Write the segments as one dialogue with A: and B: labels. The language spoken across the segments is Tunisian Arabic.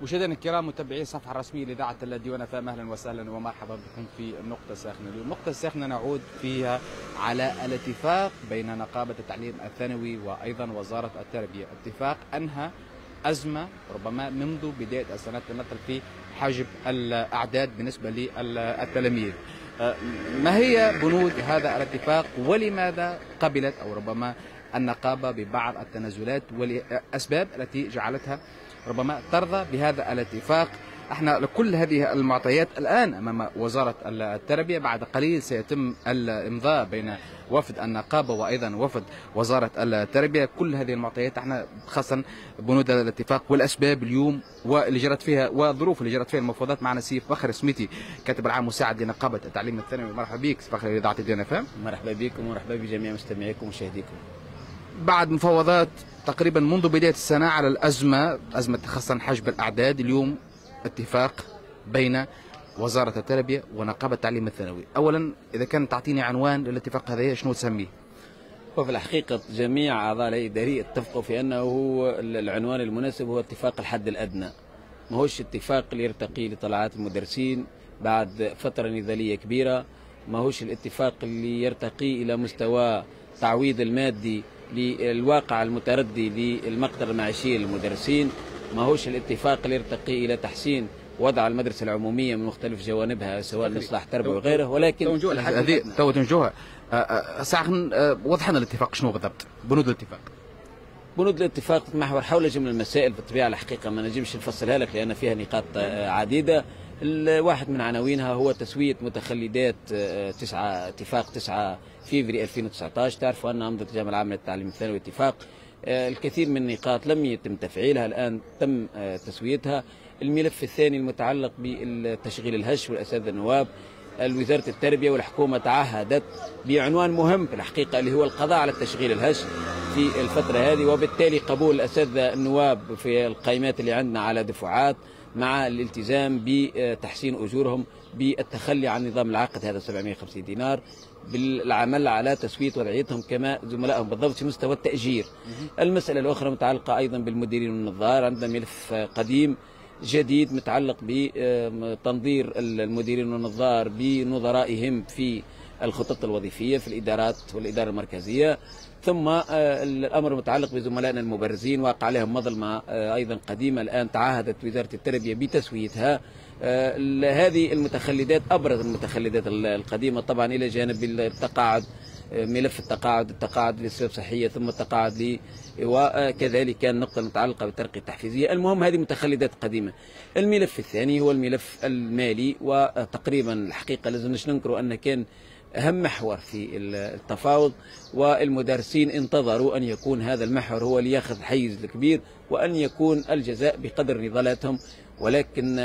A: مشاهدينا الكرام، متابعي الصفحة الرسمية لاذاعة الديوان FM، اهلا وسهلا ومرحبا بكم في النقطة الساخنة. اليوم النقطة الساخنة نعود فيها على الاتفاق بين نقابة التعليم الثانوي وايضا وزارة التربية، اتفاق انهى ازمة ربما منذ بداية السنة تمثل في حجب الاعداد بالنسبة للتلاميذ. ما هي بنود هذا الاتفاق ولماذا قبلت او ربما النقابة ببعض التنازلات والاسباب التي جعلتها ربما ترضى بهذا الاتفاق؟ احنا لكل هذه المعطيات الان امام وزارة التربية، بعد قليل سيتم الامضاء بين وفد النقابة وايضا وفد وزارة التربية. كل هذه المعطيات احنا خاصة بنود الاتفاق والاسباب اليوم واللي جرت فيها والظروف اللي جرت فيها المفاوضات. معنا سي فخر سميتي، كاتب العام مساعد لنقابه التعليم الثانوي. مرحبا بك فخر اذاعة الديوان FM.
B: مرحبا بكم ومرحبا بجميع مستمعيكم ومشاهديكم.
A: بعد مفاوضات تقريبا منذ بداية السنة على الازمة، ازمة خاصة حجب الاعداد، اليوم اتفاق بين وزارة التربية ونقابة التعليم الثانوي. اولا اذا كان تعطيني عنوان للاتفاق هذا شنو تسميه؟
B: وفي الحقيقة جميع اعضاء الهيئة الادارية اتفقوا في انه هو العنوان المناسب هو اتفاق الحد الادنى، ما هوش اتفاق اللي يرتقي لطلعات المدرسين بعد فترة نضالية كبيرة، ما هوش الاتفاق اللي يرتقي الى مستوى تعويض المادي للواقع المتردي للمقدرة المعيشية للمدرسين، ما هوش الاتفاق اللي يرتقي إلى تحسين وضع المدرسة العمومية من مختلف جوانبها سواء إصلاح تربوي وغيره، ولكن
A: هذه تو تنجوها ساعة. وضح لنا الاتفاق شنو بالضبط بنود الاتفاق.
B: بنود الاتفاق تتمحور حول جملة المسائل بالطبيعة، الحقيقة ما نجمش نفصلها لك لأن فيها نقاط عديدة. الواحد من عناوينها هو تسوية متخلدات اتفاق 9 فيفري 2019. تعرفوا أن أمضت الجامعة العامة للتعليم الثانوي اتفاق، الكثير من النقاط لم يتم تفعيلها، الآن تم تسويتها. الملف الثاني المتعلق بالتشغيل الهش والأساتذة النواب، وزارة التربية والحكومة تعهدت بعنوان مهم في الحقيقة اللي هو القضاء على التشغيل الهش في الفترة هذه، وبالتالي قبول الأساتذة النواب في القائمات اللي عندنا على دفعات مع الالتزام بتحسين أجورهم، بالتخلي عن نظام العقد هذا 750 دينار، بالعمل على تسوية وضعيتهم كما زملائهم بالضبط في مستوى التأجير. المسألة الأخرى متعلقة أيضا بالمديرين والنظار، عندنا ملف قديم جديد متعلق بتنظير المديرين والنظار بنظرائهم في الخطط الوظيفية في الإدارات والإدارة المركزية. ثم الأمر المتعلق بزملائنا المبرزين واقع عليهم مظلمة أيضا قديمة، الآن تعهدت وزارة التربية بتسويتها. هذه المتخلدات أبرز المتخلدات القديمة طبعا، إلى جانب التقاعد، ملف التقاعد، التقاعد لأسباب صحية ثم التقاعد وكذلك النقطة المتعلقة بالترقية التحفيزية. المهم هذه متخلدات قديمة. الملف الثاني هو الملف المالي، وتقريبا الحقيقة لازم ننكر أن كان أهم محور في التفاوض، والمدرسين انتظروا أن يكون هذا المحور هو اللي ياخذ الحيز الكبير وأن يكون الجزاء بقدر نضالاتهم، ولكن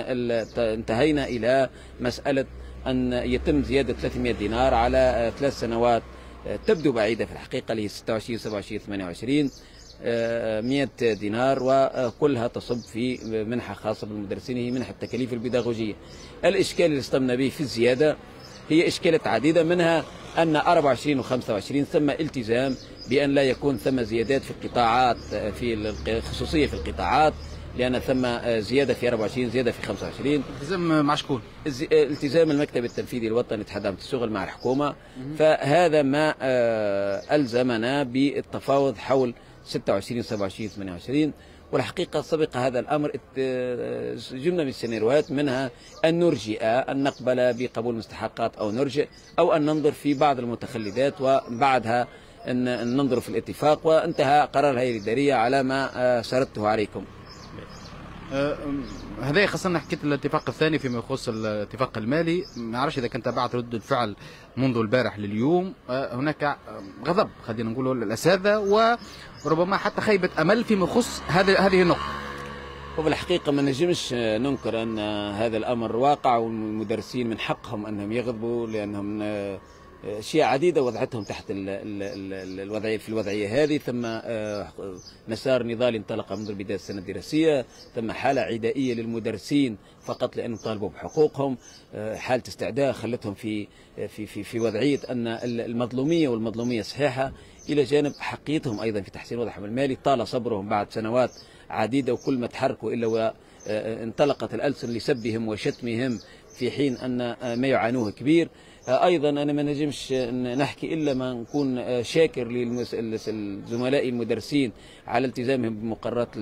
B: انتهينا إلى مسألة أن يتم زيادة 300 دينار على 3 سنوات تبدو بعيدة في الحقيقة اللي هي 26 27 28 100 دينار، وكلها تصب في منحة خاصة بالمدرسين هي منحة التكاليف البيداغوجية. الإشكال اللي اصطدمنا به في الزيادة هي إشكالات عديدة، منها أن 24 و25 ثم التزام بأن لا يكون ثم زيادات في القطاعات، في الخصوصية في القطاعات، لأن ثم زيادة في 24 زيادة في 25.
A: التزام مع شكون؟
B: التزام المكتب التنفيذي الوطني لاتحاد عامة الشغل مع الحكومة. فهذا ما ألزمنا بالتفاوض حول 26 27 28. والحقيقة سبق هذا الأمر جملة من السيناريوهات، منها أن نرجئ، أن نقبل بقبول مستحقات أو نرجئ، أو أن ننظر في بعض المتخلدات وبعدها أن ننظر في الاتفاق. وانتهى قرار الهيئة الإدارية على ما سردته عليكم.
A: هذا خاصة حكيت الاتفاق الثاني فيما يخص الاتفاق المالي، ما نعرفش إذا كنت تابعت ردة الفعل منذ البارح لليوم. هناك غضب خلينا نقولوا للأساتذة وربما حتى خيبة أمل فيما يخص هذه النقطة.
B: وفي الحقيقة ما نجمش ننكر أن هذا الأمر واقع، والمدرسين من حقهم أنهم يغضبوا لأنهم أشياء عديدة وضعتهم تحت الوضعية في الوضعية هذه. ثم مسار نضالي انطلق منذ بداية السنة الدراسية، ثم حالة عدائية للمدرسين فقط لأنهم طالبوا بحقوقهم، حالة استعداء خلتهم في في في في وضعية أن المظلومية والمظلومية صحيحة، إلى جانب حقيتهم أيضا في تحسين وضعهم المالي. طال صبرهم بعد سنوات عديدة، وكل ما تحركوا إلا انطلقت الألسن لسبهم وشتمهم في حين أن ما يعانوه كبير. أيضا أنا ما نجمش نحكي إلا ما نكون شاكر لزملائي المدرسين على التزامهم بمقررات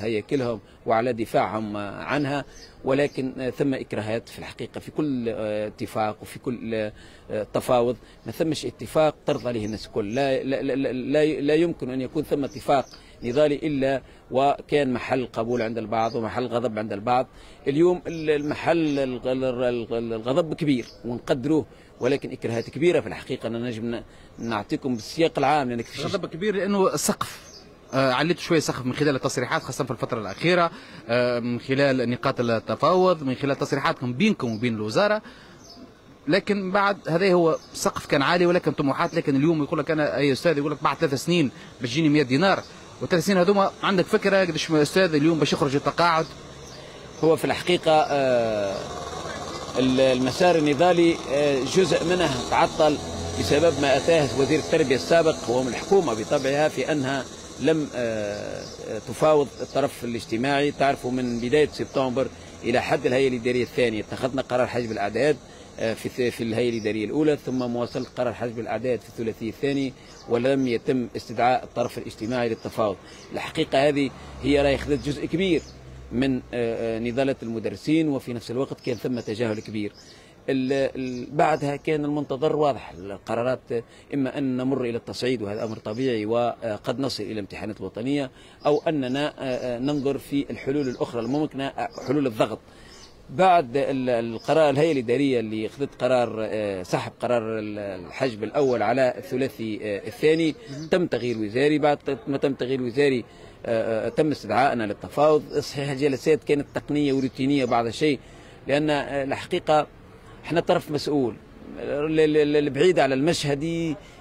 B: هياكلهم وعلى دفاعهم عنها، ولكن ثم إكراهات في الحقيقة في كل اتفاق وفي كل تفاوض. ما ثمش اتفاق ترضى عليه الناس الكل، لا, لا, لا, لا, لا يمكن أن يكون ثم اتفاق نضالي إلا وكان محل قبول عند البعض ومحل غضب عند البعض. اليوم المحل الغضب كبير ونقدروه، ولكن إكراهات كبيرة في الحقيقة. أنا نجم نعطيكم بالسياق العام، لأنك
A: غضب كبير لأنه السقف عليت شوية سقف من خلال التصريحات، خاصة في الفترة الأخيرة، من خلال نقاط التفاوض، من خلال تصريحاتكم بينكم وبين الوزارة. لكن بعد هذا هو سقف كان عالي ولكن طموحات. لكن اليوم يقول لك أنا أي أستاذ يقول لك بعد 3 سنين باش تجيني 100 دينار، وثلاث سنين هذوما عندك فكرة قداش أستاذ اليوم باش يخرج التقاعد؟
B: هو في الحقيقة المسار النضالي جزء منه تعطل بسبب ما أتاه وزير التربية السابق وهو من الحكومة بطبعها في أنها لم تفاوض الطرف الاجتماعي. تعرفوا من بداية سبتمبر إلى حد الهيئة الإدارية الثانية اتخذنا قرار حجب الأعداد في الهيئة الإدارية الأولى، ثم مواصلة قرار حجب الأعداد في الثلاثي الثاني، ولم يتم استدعاء الطرف الاجتماعي للتفاوض. الحقيقة هذه هي راهي خذت جزء كبير من نضالة المدرسين، وفي نفس الوقت كان ثم تجاهل كبير. بعدها كان المنتظر واضح، القرارات إما أن نمر إلى التصعيد وهذا أمر طبيعي وقد نصل إلى امتحانات الوطنية، أو أننا ننظر في الحلول الأخرى الممكنة، حلول الضغط. بعد القرار الهيئة الإدارية اللي أخذت قرار سحب قرار الحجب الأول على الثلاثي الثاني، تم تغيير وزاري. بعد ما تم تغيير وزاري تم استدعائنا للتفاوض. صحيح الجلسات كانت تقنية وروتينية بعض الشيء، لأن الحقيقة احنا طرف مسؤول البعيد على المشهد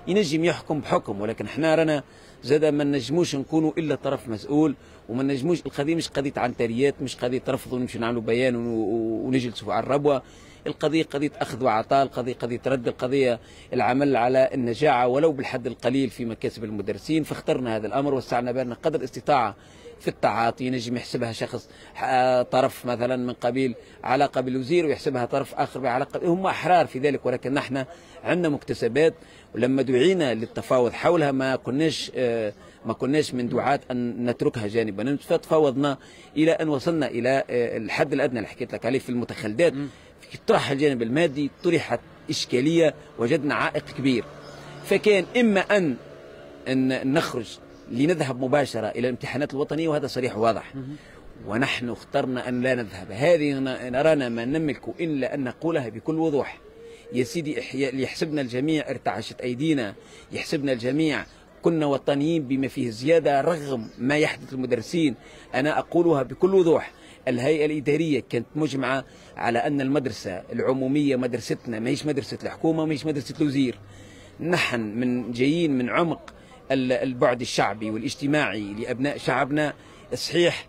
B: ينجم يحكم بحكم، ولكن احنا رانا زاد ما نجموش نكونوا الا طرف مسؤول، وما نجموش. القضية مش قضية عنتريات، مش قضية رفض ونمشي نعملوا بيان ونجلسوا على الربوه. القضية قضية اخذ وعطاء، القضية قضية رد، القضية العمل على النجاعه ولو بالحد القليل في مكاسب المدرسين. فاخترنا هذا الامر وسعنا بالنا قدر الاستطاعة في التعاطي. ينجم يحسبها شخص طرف مثلا من قبيل علاقة بالوزير، ويحسبها طرف اخر بعلاقة، هم احرار في ذلك، ولكن نحن عندنا مكتسبات، ولما دعينا للتفاوض حولها ما كناش من دعاة ان نتركها جانبا، فتفاوضنا الى ان وصلنا الى الحد الادنى اللي حكيت لك عليه في المتخلدات. في طرح الجانب المادي طرحت اشكالية، وجدنا عائق كبير، فكان اما ان نخرج لنذهب مباشرة إلى الامتحانات الوطنية، وهذا صريح وواضح، ونحن اخترنا أن لا نذهب. هذه نرانا ما نملك إلا أن نقولها بكل وضوح. يا سيدي يحسبنا الجميع ارتعشت أيدينا، يحسبنا الجميع كنا وطنيين بما فيه زيادة رغم ما يحدث المدرسين. أنا أقولها بكل وضوح، الهيئة الإدارية كانت مجمعة على أن المدرسة العمومية مدرستنا، ما هيش مدرسة الحكومة، ما هيش مدرسة الوزير. نحن من جايين من عمق البعد الشعبي والاجتماعي لأبناء شعبنا. صحيح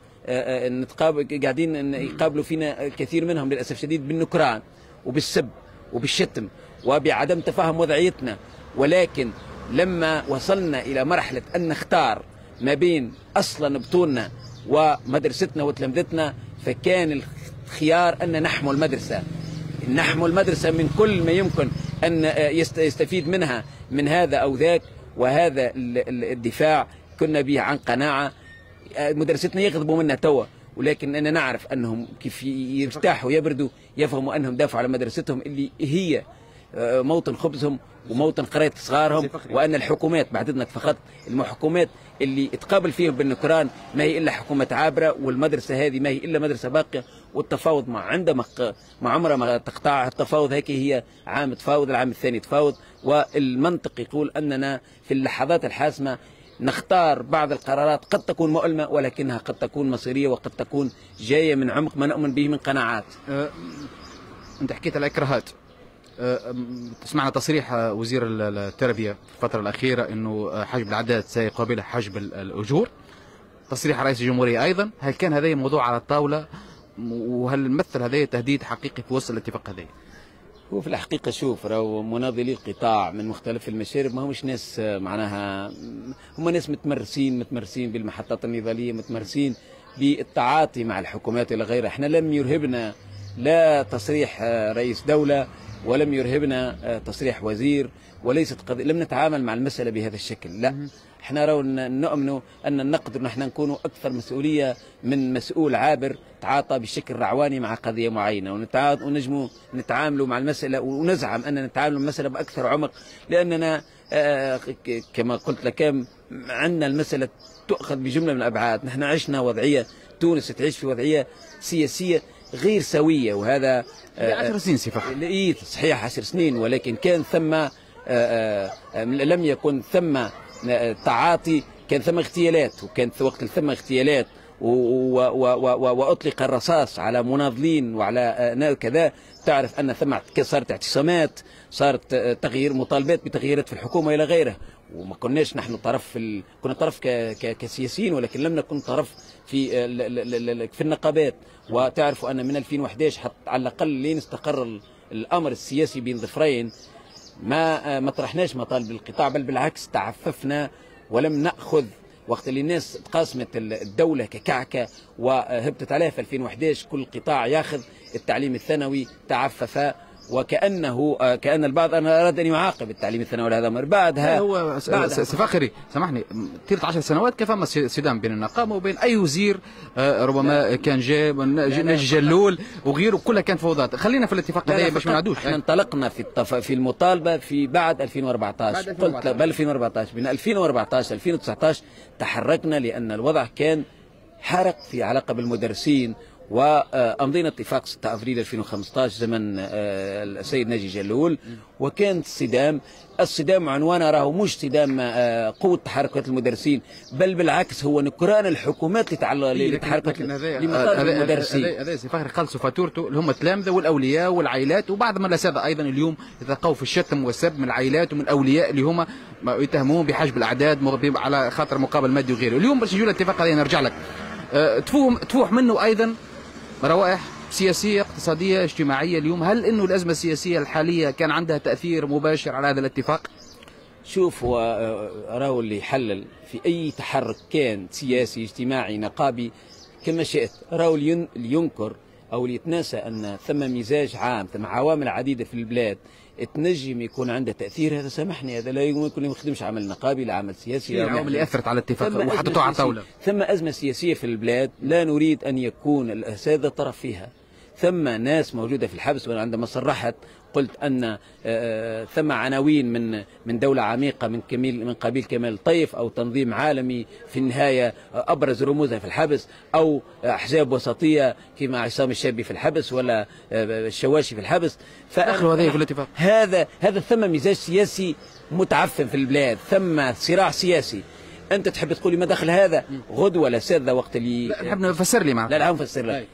B: نتقابل، قاعدين يقابلوا فينا الكثير منهم للأسف الشديد بالنكران وبالسب وبالشتم وبعدم تفهم وضعيتنا، ولكن لما وصلنا إلى مرحلة أن نختار ما بين أصلا بطولنا ومدرستنا وتلامذتنا، فكان الخيار أن نحمو المدرسة، نحمو المدرسة من كل ما يمكن أن يستفيد منها من هذا أو ذاك. وهذا الدفاع كنا به عن قناعة. مدرستنا يغضبوا منا توا، ولكن أنا نعرف أنهم كيف يرتاحوا ويبردوا يفهموا أنهم دافعوا على مدرستهم اللي هي موطن خبزهم وموطن قراية صغارهم، وأن الحكومات بعد إذنك فقط الحكومات اللي تقابل فيهم بالنكران ما هي إلا حكومة عابرة، والمدرسة هذه ما هي إلا مدرسة باقية. والتفاوض ما عندما ما عمره ما تقطع التفاوض، هيك هي عام تفاوض، العام الثاني تفاوض. والمنطق يقول أننا في اللحظات الحاسمة نختار بعض القرارات قد تكون مؤلمة ولكنها قد تكون مصيرية وقد تكون جاية من عمق ما نؤمن به من قناعات.
A: أنت حكيت على الإكراهات، سمعنا تصريح وزير التربية في الفترة الأخيرة أنه حجب الأعداد سيقابله حجب الأجور، تصريح رئيس الجمهورية أيضا. هل كان هذا موضوع على الطاولة، وهل مثل هذا تهديد حقيقي في وسط الاتفاق هذا؟
B: هو في الحقيقة شوف، راهو مناضلي القطاع من مختلف المشارب ما همش ناس معناها، هم ناس متمرسين بالمحطات النضالية، متمرسين بالتعاطي مع الحكومات الى غيرها. احنا لم يرهبنا لا تصريح رئيس دولة ولم يرهبنا تصريح وزير، وليست قضية، لم نتعامل مع المسألة بهذا الشكل. لا، احنا راهو نؤمن أن نقدر نحن نكون أكثر مسؤولية من مسؤول عابر تعاطى بشكل رعواني مع قضية معينة، ونجموا نتعاملوا مع المسألة ونزعم أن نتعامل مع المسألة بأكثر عمق، لأننا كما قلت لك عندنا المسألة تؤخذ بجملة من الأبعاد. نحن عشنا وضعية، تونس تعيش في وضعية سياسية غير سوية، وهذا
A: 10 سنين سي فخري.
B: صحيح 10 سنين، ولكن كان ثم لم يكن ثم تعاطي، كان ثم اغتيالات، وكان وقت ثم اغتيالات واطلق الرصاص على مناضلين وعلى كذا. تعرف ان ثم صارت اعتصامات، صارت تغيير، مطالبات بتغييرات في الحكومة الى غيره، وما كناش نحن طرف كنا طرف كسياسيين، ولكن لم نكن طرف في النقابات. وتعرفوا ان من 2011 حتى على الاقل لين استقر الامر السياسي بين ظفرين ما طرحناش مطالب القطاع، بل بالعكس تعففنا ولم ناخذ. وقت اللي الناس تقاسمت الدولة ككعكه وهبطت عليها في 2011، كل قطاع ياخذ. التعليم الثانوي تعفف، وكأنه كأن البعض أنا أراد أن يعاقب التعليم الثانوي على هذا الأمر. بعدها
A: هو سي فخري سامحني، طيلة 10 سنوات كيف فما صدام بين النقابة وبين أي وزير ربما كان جاء ناجي جلول وغيره، كلها كانت فوضات. خلينا في الاتفاق هذا باش ما نعدوش.
B: احنا انطلقنا في المطالبة في بعد 2014، قلت بل 2014، من 2014 2019 تحركنا، لأن الوضع كان حرق في علاقة بالمدرسين، وأمضينا اتفاق 6 أفريل 2015 زمن السيد ناجي جلول، وكان الصدام، الصدام عنوانه راهو مش صدام قوة تحركات المدرسين، بل بالعكس هو نكران الحكومات لتحركات لمطالب المدرسين.
A: هذا سي فخري خلصوا فاتورته اللي هم التلامذة والأولياء والعائلات، وبعض من الأساتذة أيضا اليوم يتلقوا في الشتم والسب من العائلات ومن الأولياء اللي هما يتهمون بحجب الأعداد على خاطر مقابل مادي وغيره. اليوم باش نجيو للاتفاق هذا نرجع لك، تفوح منه أيضا روائح سياسية اقتصادية اجتماعية اليوم. هل انه الأزمة السياسية الحالية كان عندها تأثير مباشر على هذا الاتفاق؟
B: شوف، هو راهو اللي يحلل في أي تحرك كان سياسي اجتماعي نقابي كما شئت، راهو اللي ينكر أو اللي يتناسى أن ثم مزاج عام، ثم عوامل عديدة في البلاد تنجم يكون عندها تأثير. هذا سامحني، هذا لا يمكن ما يخدمش عمل نقابي لا عمل سياسي.
A: العوامل اللي أثرت على الاتفاق وحطتوه على الطاولة.
B: ثم أزمة سياسية في البلاد لا نريد أن يكون الأساتذة طرف فيها. ثم ناس موجودة في الحبس، وأنا عندما صرحت قلت أن ثم عناوين من دولة عميقة من قبيل كمال طيف، أو تنظيم عالمي في النهاية أبرز رموزها في الحبس، أو أحزاب وسطية كما عصام الشابي في الحبس ولا الشواشي في الحبس.
A: دخلوا هذا في الاتفاق.
B: هذا ثم مزاج سياسي متعفن في البلاد، ثم صراع سياسي. أنت تحب تقولي ما دخل هذا غدوة الأساتذة وقت اللي
A: لا نحب نفسر لي
B: معك. لا لا نفسر لك،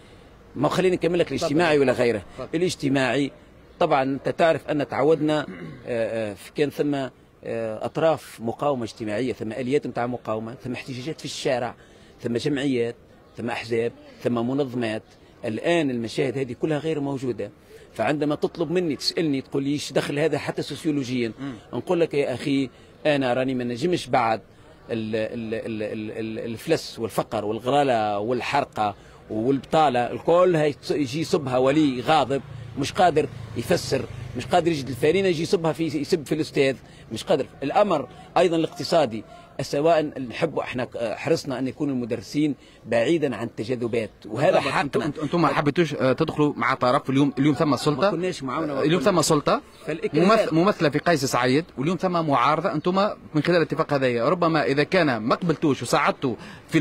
B: ما خليني نكمل لك الاجتماعي ولا غيره. الاجتماعي طبعا انت تعرف ان تعودنا كان ثم اطراف مقاومة اجتماعية، ثم اليات نتاع مقاومة، ثم احتجاجات في الشارع، ثم جمعيات، ثم احزاب، ثم منظمات. الان المشاهد هذه كلها غير موجودة. فعندما تطلب مني تسالني تقول لي ايش دخل هذا حتى سوسيولوجيا، نقول لك يا اخي انا راني ما نجمش بعد الفلس والفقر والغلاله والحرقه والبطالة الكل يجي يصبها ولي غاضب مش قادر يفسر، مش قادر يجد الفارينه، يجي يصبها في يسب في الاستاذ، مش قادر. الامر ايضا الاقتصادي، سواء نحب احنا حرصنا ان يكون المدرسين بعيدا عن التجاذبات، وهذا حقنا.
A: انتم ما حبيتوش تدخلوا مع طرف. اليوم ثم سلطة،
B: ما كناش معاونة.
A: اليوم ثم سلطة ممثلة في قيس سعيد، واليوم ثم معارضة. انتم من خلال الاتفاق هذايا ربما اذا كان ما قبلتوش وساعدتوا في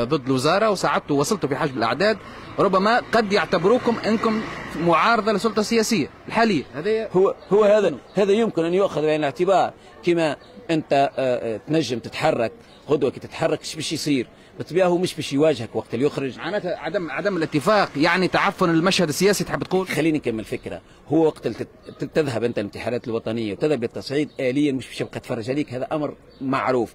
A: ضد الوزارة وساعدتوا وصلتوا في حجم الاعداد، ربما قد يعتبروكم انكم معارضة للسلطة السياسية الحالية.
B: هذا هو هذا يمكن ان يؤخذ بعين الاعتبار. كما انت تنجم تتحرك غدوه، كي تتحرك ايش باش يصير؟ بالطبيعة هو مش باش يواجهك وقت اللي يخرج.
A: معناتها عدم الاتفاق يعني تعفن المشهد السياسي، تحب تقول؟
B: خليني نكمل فكرة. هو وقت اللي تذهب انت الامتحانات الوطنية وتذهب للتصعيد اليا مش باش يبقى يتفرج عليك، هذا امر معروف.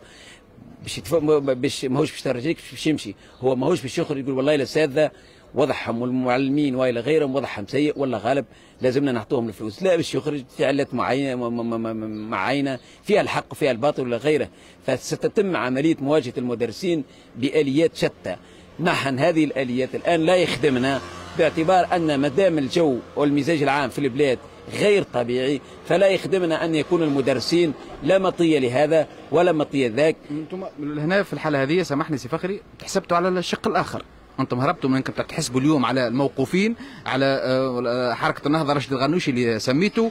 B: باش ماهوش باش يتفرج عليك، باش يمشي، هو ماهوش باش يخرج يقول والله الاساتذة وضعهم والمعلمين والى غيرهم وضعهم سيء ولا غالب لازمنا نعطوهم الفلوس. لا، باش يخرج في علات معينة فيها الحق وفيها الباطل ولا غيره. فستتم عملية مواجهة المدرسين باليات شتى. نحن هذه الآليات الآن لا يخدمنا، باعتبار أن ما دام الجو والمزاج العام في البلاد غير طبيعي فلا يخدمنا أن يكون المدرسين لا مطية لهذا ولا مطية ذاك.
A: أنتم هنا في الحالة هذه سامحني سي فخري تحسبتوا على الشق الآخر، أنتم هربتوا من أنكم تحسبوا اليوم على الموقوفين، على حركة النهضة رشيد الغنوشي اللي سميته،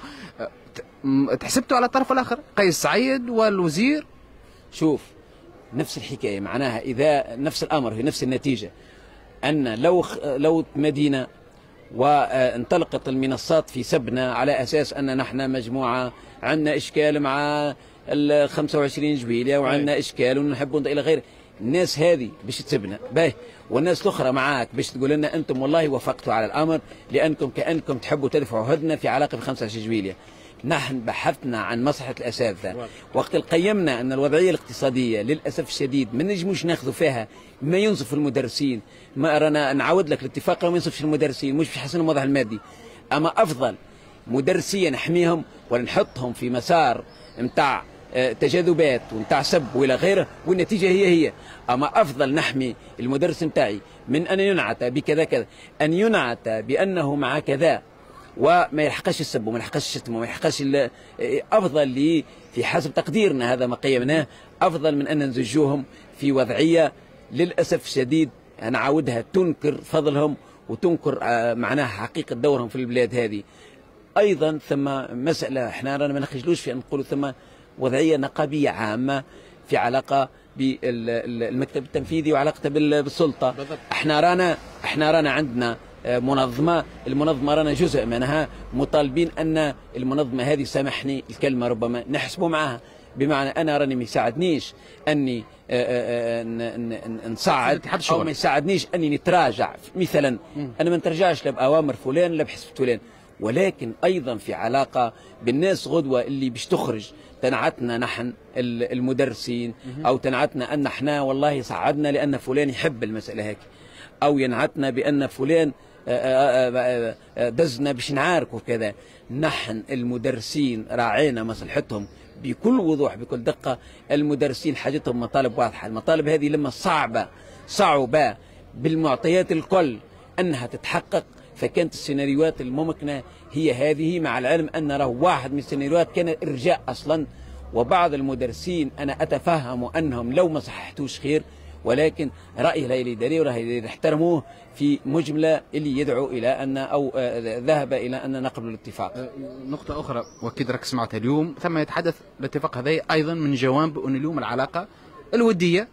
A: تحسبتوا على الطرف الآخر قيس سعيد والوزير.
B: شوف نفس الحكاية، معناها إذا نفس الأمر في نفس النتيجة، أن لو مدينة وانطلقت المنصات في سبنا على أساس أن نحن مجموعة عندنا إشكال مع ال 25 جويلية وعندنا إشكال ونحب إلى غيره، الناس هذه باش تسبنا باهي، والناس الأخرى معاك باش تقول لنا أنتم والله وافقتوا على الأمر لأنكم كأنكم تحبوا تدفعوا هدنة في علاقة ب 25 جويلية. نحن بحثنا عن مصلحة الأساتذة وقت قيمنا أن الوضعية الاقتصادية للأسف الشديد ما نجموش ناخذوا فيها ما ينصف المدرسين، ما رانا نعاود لك الاتفاق ما ينصفش المدرسين، مش باش يحسن الوضع المادي، أما أفضل مدرسيا نحميهم ولا نحطهم في مسار نتاع تجاذبات ونتاع سب وإلى غيره والنتيجة هي هي. أما أفضل نحمي المدرس نتاعي من أن ينعت بكذا كذا، أن ينعت بأنه مع كذا وما يلحقش السب وما يلحقش الشتم وما يلحقش، افضل لي في حسب تقديرنا هذا ما قيمناه، افضل من ان نزجوهم في وضعية للاسف الشديد نعاودها تنكر فضلهم وتنكر معناها حقيقة دورهم في البلاد هذه. ايضا ثم مسالة احنا رانا ما نخجلوش في ان نقولوا ثم وضعية نقابيه عامة في علاقة بالمكتب التنفيذي وعلاقته بالسلطة. بالضبط. احنا رانا عندنا منظمة، المنظمة رانا جزء منها، مطالبين أن المنظمة هذه سامحني الكلمة ربما نحسبوا معها، بمعنى أنا راني ما يساعدنيش أني نصعد أو ما يساعدنيش أني نتراجع مثلا، أنا ما نتراجعش لا بأوامر فلان لا بحسب فلان، ولكن أيضا في علاقة بالناس غدوة اللي باش تخرج تنعتنا نحن المدرسين أو تنعتنا أن احنا والله صعدنا لأن فلان يحب المسألة هيك، أو ينعتنا بأن فلان دزنا باش نعارك وكذا. نحن المدرسين راعينا مصلحتهم بكل وضوح بكل دقة. المدرسين حاجتهم مطالب واضحة، المطالب هذه لما صعبة بالمعطيات الكل أنها تتحقق، فكانت السيناريوهات الممكنة هي هذه، مع العلم أن راه واحد من السيناريوهات كان إرجاء أصلا، وبعض المدرسين أنا أتفهم أنهم لو ما صححتوش خير، ولكن رأي الهيئة الإدارية ورأي احترموه في مجملة اللي يدعو إلى أن أو ذهب إلى أن نقبل الاتفاق.
A: نقطة أخرى وأكيد راك سمعتها اليوم، ثم يتحدث الاتفاق هذا أيضا من جوانب أن اليوم العلاقة الودية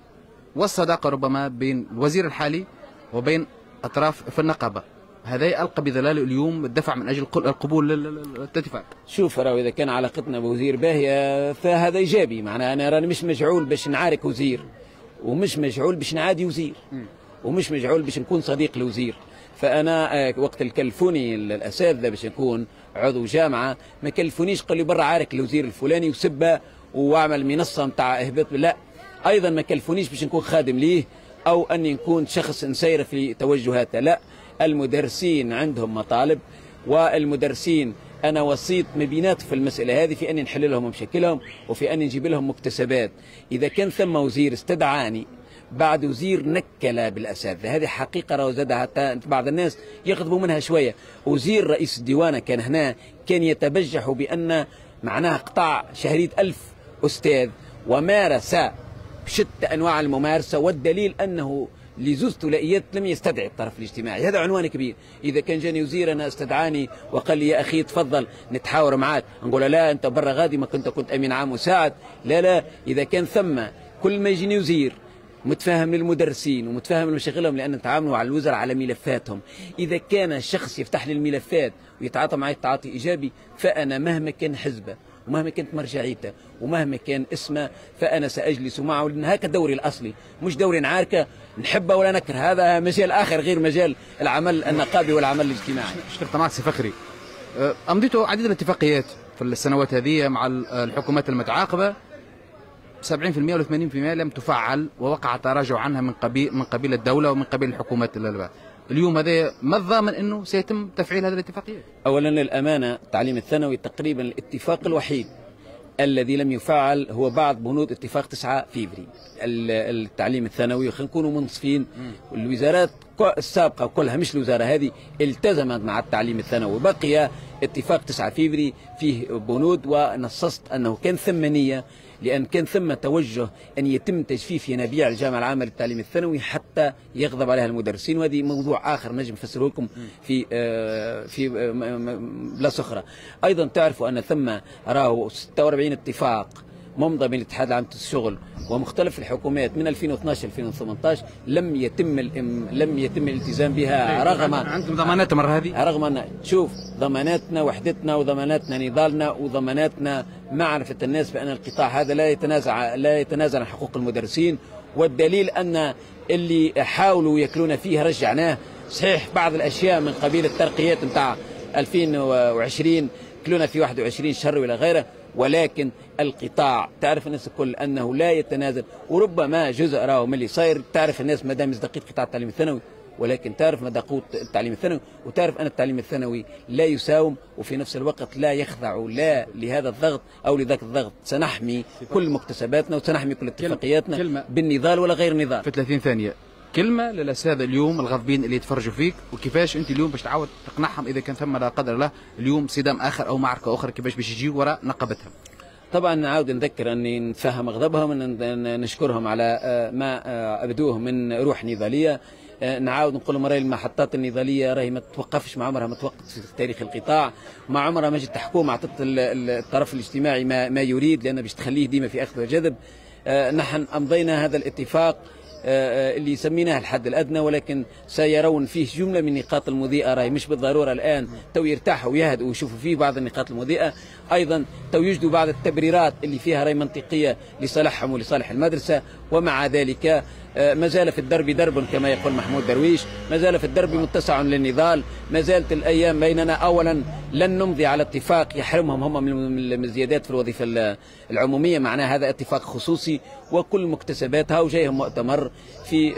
A: والصداقة ربما بين الوزير الحالي وبين أطراف في النقابة، هذا ألقى بظلاله اليوم الدفع من أجل القبول للاتفاق.
B: شوف راهو إذا كان علاقتنا بوزير باهية فهذا إيجابي، معناها أنا راني مش مجعول باش نعارك وزير، ومش مجعول باش نعادي وزير، ومش مجعول باش نكون صديق لوزير. فأنا وقت اللي كلفوني الأساتذة باش نكون عضو جامعة ما كلفونيش قالوا لي برا عارك الوزير الفلاني وسبه واعمل منصة نتاع إهباط، لا، أيضا ما كلفونيش باش نكون خادم ليه أو أني نكون شخص نسير في توجهاته، لا، المدرسين عندهم مطالب، والمدرسين أنا وسيط ما بينات في المسألة هذه في أني نحل لهم مشاكلهم وفي أني نجيب لهم مكتسبات. إذا كان ثم وزير استدعاني بعد وزير نكل بالأساتذة، هذه حقيقة راهو زاد حتى بعض الناس يغضبوا منها شوية. وزير رئيس الديوانة كان هنا كان يتبجح بأن معناها قطع شهرية 1000 أستاذ ومارس بشتى أنواع الممارسة، والدليل أنه لزوز ثلاثيات لم يستدعي الطرف الاجتماعي، هذا عنوان كبير. إذا كان جاني وزير أنا استدعاني وقال لي يا أخي تفضل نتحاور معاك، نقول لا أنت برا غادي ما كنت أمين عام مساعد، لا لا. إذا كان ثم كل ما يجيني وزير متفاهم للمدرسين ومتفاهم لمشاغلهم لأن نتعاملوا على الوزراء على ملفاتهم، إذا كان شخص يفتح لي الملفات ويتعاطى معي تعاطي إيجابي، فأنا مهما كان حزبه ومهما كانت مرجعيته ومهما كان اسمه فأنا سأجلس معه، لأن هكا دوري الأصلي، مش دوري نعاركه نحبه ولا نكره، هذا مجال آخر غير مجال العمل النقابي والعمل الاجتماعي.
A: اشتركت معك سي فخري، أمضيتوا عديد الاتفاقيات في السنوات هذه مع الحكومات المتعاقبة، 70% ولا 80% لم تفعل ووقع تراجع عنها من قبيل الدولة ومن قبيل الحكومات. اليوم هذا ما الضامن انه سيتم تفعيل هذه الاتفاقية؟
B: اولا للامانة التعليم الثانوي تقريبا الاتفاق الوحيد الذي لم يفعل هو بعض بنود اتفاق 9 فيفري التعليم الثانوي. خلينا نكونوا منصفين، الوزارات السابقة كلها مش الوزارة هذه التزمت مع التعليم الثانوي. بقي اتفاق 9 فيفري فيه بنود، ونصصت أنه كان ثم نية، لأن كان ثم توجه أن يتم تجفيف ينابيع الجامعة العامة للتعليم الثانوي حتى يغضب عليها المدرسين، وهذه موضوع آخر نجم نفسره لكم في بلاصة أخرى. أيضا تعرفوا أن ثم راهو 46 اتفاق ممضى بين الاتحاد العام للشغل ومختلف الحكومات من 2012 2018 لم يتم الالتزام بها، رغم
A: عندكم ضمانات المرة هذه،
B: رغم ان شوف ضماناتنا وحدتنا وضماناتنا نضالنا وضماناتنا معرفة الناس بان القطاع هذا لا يتنازل عن حقوق المدرسين، والدليل ان اللي حاولوا ياكلون فيه رجعناه. صحيح بعض الاشياء من قبيل الترقيات نتاع 2020 كلونا في 21 شهر ولا غيره، ولكن القطاع تعرف الناس الكل انه لا يتنازل، وربما جزء راهو من اللي صاير تعرف الناس مدى مصداقية قطاع التعليم الثانوي، ولكن تعرف مدى قوة التعليم الثانوي، وتعرف ان التعليم الثانوي لا يساوم وفي نفس الوقت لا يخضع لا لهذا الضغط او لذاك الضغط. سنحمي كل مكتسباتنا وسنحمي كل اتفاقياتنا بالنضال ولا غير النضال.
A: في 30 ثانية كلمة للأساتذة اليوم الغاضبين اللي يتفرجوا فيك، وكيفاش أنت اليوم باش تعاود تقنعهم إذا كان ثم لا قدر الله اليوم صدام آخر أو معركة أخرى، كيفاش باش يجيوا وراء نقابتهم؟
B: طبعا نعاود نذكر أني نتفهم غضبهم، نشكرهم على ما أبدوه من روح نضالية. نعاود نقول لهم راهي المحطات النضالية راهي ما توقفش، مع عمرها ما توقفت في تاريخ القطاع، مع عمرها ما جت حكومة أعطت الطرف الاجتماعي ما يريد، لأن باش تخليه ديما في أخذ وجذب. نحن أمضينا هذا الاتفاق اللي سميناه الحد الأدنى، ولكن سيرون فيه جملة من النقاط المضيئة، راهي مش بالضرورة الآن تو يرتاحوا ويهدوا ويشوفوا فيه بعض النقاط المضيئة، أيضا تو يجدوا بعض التبريرات اللي فيها راي منطقية لصالحهم ولصالح المدرسة. ومع ذلك ما زال في الدرب درب كما يقول محمود درويش، ما زال في الدرب متسع للنضال، ما زالت الأيام بيننا. أولا لن نمضي على اتفاق يحرمهم هم من الزيادات في الوظيفة العمومية، معناها هذا اتفاق خصوصي وكل مكتسباتها، وجايهم مؤتمر في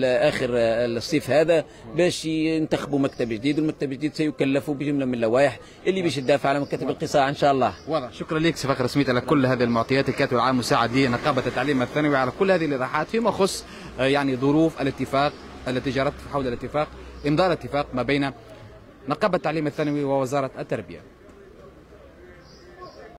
B: آخر الصيف هذا باش ينتخبوا مكتب جديد، والمكتب الجديد سيكلفوا بجملة من اللوائح اللي باش تدافع على مكاتب القطاع إن شاء الله.
A: واضح. شكرا لك سي فخر سميت على كل هذه المعطيات، الكاتب العام المساعد لنقابة التعليم الثانوي على كل هذه الإيضاحات فيما يخص يعني ظروف الاتفاق التي جرت حول الاتفاق، إمضاء الاتفاق ما بين نقابة التعليم الثانوي ووزارة التربية.